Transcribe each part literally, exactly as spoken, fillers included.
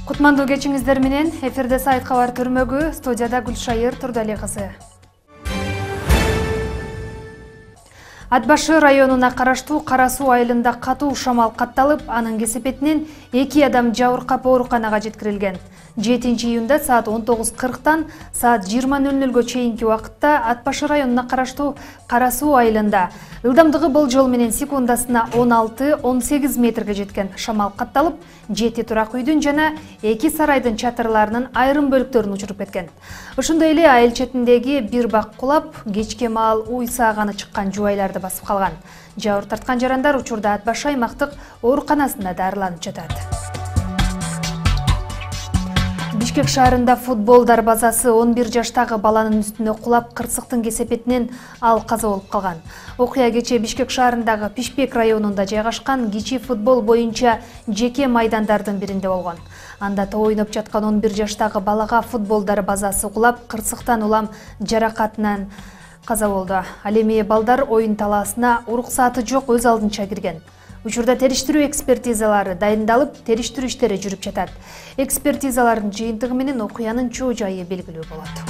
Кутмандуу кечиңиздер менен эфирде сайт кабар түрмөгү, студияда Гүлшайыр Турдали кызы. Ат башы районуна караштуу Кара Суу айылында катуу шамал катталып, анын кесепетинен эки адам жабыркап ооруканага жеткирилген. жетинчи июнда саат он тогуз кырктан саат жыйырма нөл нөлгө чейинки убакытта Ат башы районуна караштуу Кара Суу айылында ылдамдыгы болжол менен секундасына он алты — он сегиз метрге жеткен шамал катталып, жети турак үйдүн жана эки сарайдын чатырларынын айрым бөлүктөрүн учуруп кеткен. Ошондой эле айыл четиндеги бир бак кулап, кечке маал уй сааганы чыккан жубайларды басып калган. Жабыр тарткан жарандар учурда Ат башы аймактык ооруканасында дарыланып жатат. Бишкек шаарында футбол дарбазасы он бир жаштагы баланын үстүнө кулап, кырсыктын кесепетинен ал каза болуп калган. Окуя кечээ Бишкек шаарындагы Пишпек районунда жайгашкан кичи футбол боюнча жеке майдандардын биринде болгон. Анда топ ойноп жаткан он бир жаштагы балага футбол дарбазасы кулап, кырсыктан улам жаракатынан каза болду. Ал эми балдар оюн талаасына уруксаты жок өз алдынча кирген. Учурда териштирүү экспертизалары дайындалып, териштирүү иштери жүрүп жатат. Экспертизалардын жыйынтыгы менен окуянын чоо жайы белгилүү болот.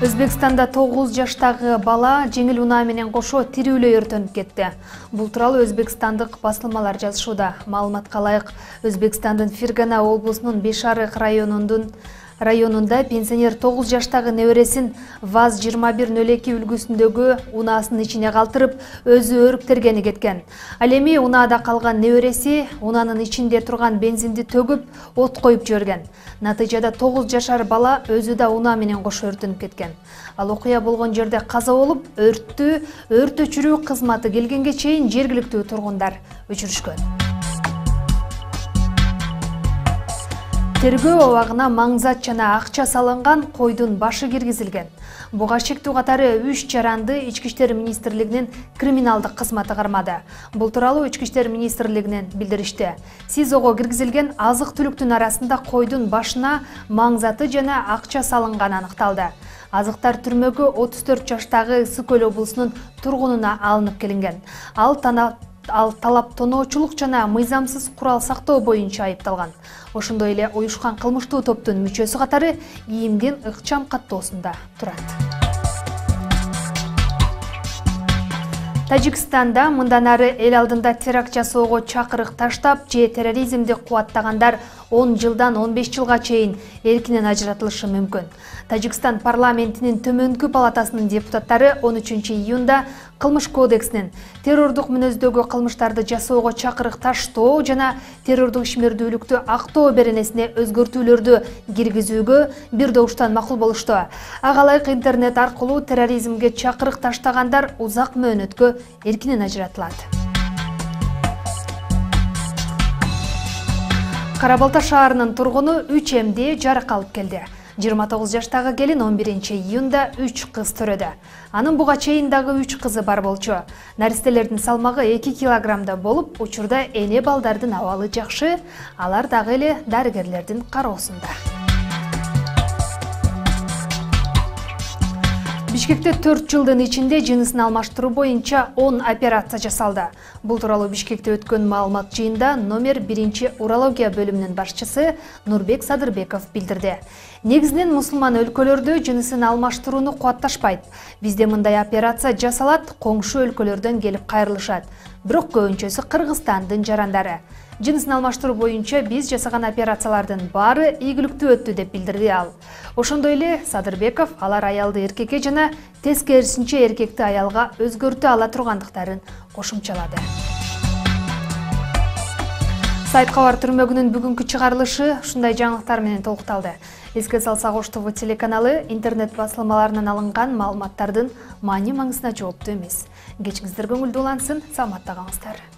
Өзбекстанда тогуз жаштагы бала жеңил унаа менен кошо тирүүлөй өртөнүп кетти. Бул тууралуу өзбекстандык басылмалар жазышууда. Маалыматка ылайык, Өзбекстандын Фергана облусунун Бешарык районундун районунда пенсионер тогуз жаштагы небересин ВАЗ жыйырма бир нөл эки үлгүсүндөгү унаасынын ичине калтырып, өзү өрүптергени кеткен. Ал эми унаада калган небереси унаанын ичинде турган бензинди төгүп, от коюп жиберген. Натыйжада тогуз жашар бала өзү да унаа менен кошо өртөнүп кеткен. Ал окуя болгон жерде каза болуп, өрттү өрт өчүрүү кызматы келгенге чейин жергиликтүү тургундар өчүрүшкөн. Тергөө абагына маңзат жана акча салынган койдун башы киргизилген. Буга шектүү катары үч жаранды Ички иштер министрлигинин криминалдык кызматы кармады. Бул тууралуу Ички иштер министрлигинен билдиришти. СИЗОго киргизилген азык-түлүктүн арасында койдун башына маңзаты жана акча салынганы аныкталды. Азыктар түрмөгө отуз төрт жаштагы Ысык Көл облусунун тургунуна алынып келинген. Ал тана Ал талап тоноочулук жана мыйзамсыз курал сактоо боюнча айыпталган. Ошондой эле уюшкан кылмыштуу топтун мүчөсү катары ИИМдин ыкчам каттоосунда турат. Тажикстанда мындан ары эл алдында теракт жасоого чакырык таштап, же терроризмди кубаттагандар он жылдан он беш жылга чейин эркинен ажыратылышы мүмкүн. Тажикстан парламентинин төмөнкү палатасынын депутаттары он үчүнчү июнда Кылмыш кодексинин террордук мүнөздөгү кылмыштарды жасоого чакырык таштоо жана террордук ишмердүүлүктү актоо беренесине өзгөртүүлөрдү киргизүүгө бир добуштан макул болушту. Ага ылайык интернет аркылуу терроризмге чакырык таштагандар узак мөөнөткө эркинен ажыратылат. Кара Балта шаарынын тургуну үч эмди жарак алып келди. жыйырма тогуз жаштагы келин он биринчи июнда үч кыз төрөдү. Анын буга чейин дагы үч кызы бар болчу. Наристелердин салмагы эки килограммда болуп, учурда эне балдардын абалы жакшы, алар дагы эле дарыгерлердин кароосунда. Бишкекте төрт жылдын ичинде жынысын алмаштыруу боюнча он операция жасалды. Бул тууралуу Бишкекте өткөн маалымат жыйында номер биринчи урология бөлүмүнүн башчысы Нурбек Садырбеков билдирди. Негизинен мусулман өлкөлөрдө жынысын алмаштырууну кубатташпайт. Бизде мындай операция жасалат, коңшу өлкөлөрдөн келип кайрылышат. Бирок көбүнчөсү Кыргызстандын жарандары. Жынысын алмаштыруу боюнча биз жасаган операциялардын баары ийгиликтүү өттү деп билдирди ал. Ошондой эле Садырбеков алар аялды эркекке жана тескерисинче эркекти аялга өзгөртө ала тургандыктарын кошумчалады. Сайт кабар түрмөгүнүн бүгүнкү чыгарылышы ушундай жаңылыктар менен толукталды. Эске салсак, Ош ТВ телеканалы интернет басылмаларынан алынган маалыматтардын маани маңызына жооптуу эмес. Кечиңиздер көңүлдүү улансын, саламатта калыңыздар.